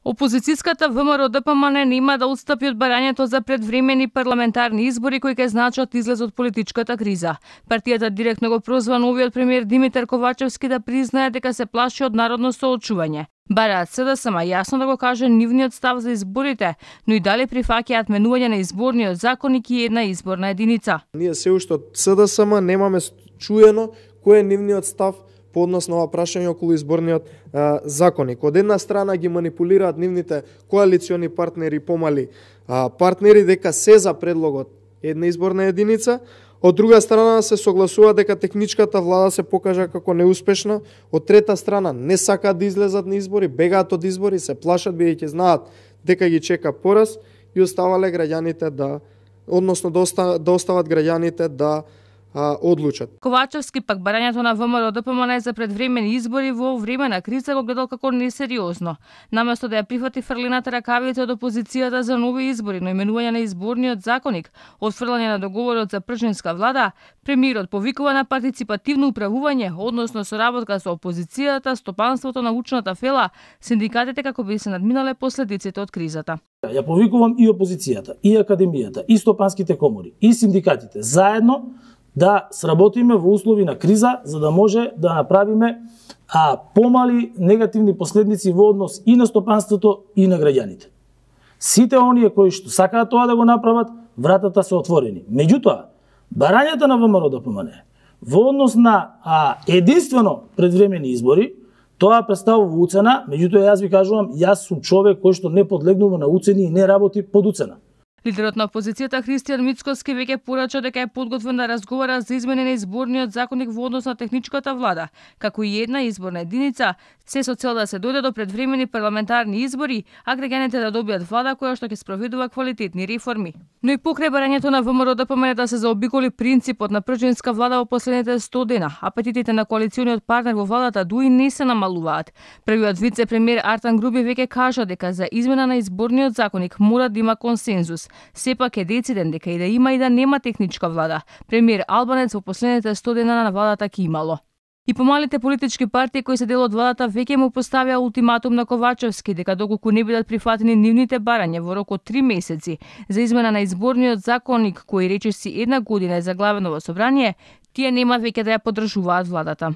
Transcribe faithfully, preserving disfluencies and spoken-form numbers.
Опозицијската ВМРО-ДПМН нема да отстапи од барањето за предвремени парламентарни избори кои ќе значат излез од политичката криза. Партијата директно го прозваа новиот премиер Димитар Ковачевски да признае дека се плаши од народно соочување. Бараат СДСМ јасно да го каже нивниот став за изборите, но и дали прифаќаат менување на изборниот законник и една изборна единица. Ние се уште од СДСМ немаме чуено кој е нивниот став по однос на ова прашање околу изборниот а, законник. Од една страна ги манипулираат нивните коалициони партнери, помали а, партнери дека се за предлогот една изборна единица, од друга страна се согласува дека техничката влада се покажа како неуспешна, од трета страна не сакаат да излезат на избори, бегаат од избори, се плашат бидејќи знаат дека ги чека пораз и оставале граѓаните да, односно да, оста, да остават граѓаните да А, одлучат. Ковачевски пак барањето на ВМРО-ДПМН за предвремени избори во време на криза го гледал како несериозно. Наместо да ја прифати фрлината ракавица од опозицијата за нови избори, но именување на изборниот законник, отфрлање на договорот за пржинска влада, премиерот повикува на партиципативно управување, односно соработка со опозицијата, стопанството, научната фела, синдикатите како би се надминале последиците од кризата. Ја повикувам и опозицијата, и академијата, и стопанските комори, и синдикатите заедно да сработиме во услови на криза, за да може да направиме а, помали негативни последици во однос и на стопанството и на граѓаните. Сите оние кои што сакаат тоа да го направат, вратата се отворени. Меѓутоа, барањата на ВМРО-ДПМН во однос на а, единствено предвремени избори, тоа представува уцена, меѓутоа јас ви кажувам, јас сум човек кој што не подлегнува на уцени и не работи под уцена. Лидерот на опозицијата Христијан Мицкоски веќе порача дека е подготвен да разговара за измени на изборниот законник во однос на техничката влада, како и една изборна единица, се со цел да се дојде до предвремени парламентарни избори, а граѓаните да добијат влада која што ќе спроведува квалитетни реформи. Но и покрај барањето на ВМРО-ДПМН да се заобиколи принципот на пржинска влада во последните сто дена, апетитите на коалициониот партнер во владата дуи не се намалуваат. Првиот вице-премиер Артан Груби веќе кажа дека за измена на изборниот законник мора да има консензус. Сепак е дециден дека и да има и да нема техничка влада. Премиер Албанец во последните сто дена на владата ќе имало. И помалите политички партии кои се дел од владата веќе му поставија ултиматум на Ковачевски дека доколку не бидат прифатени нивните барања во рок од три месеци за измена на изборниот законник кој речиси една година е заглавено во собрание, тие нема веќе да ја поддржуваат владата.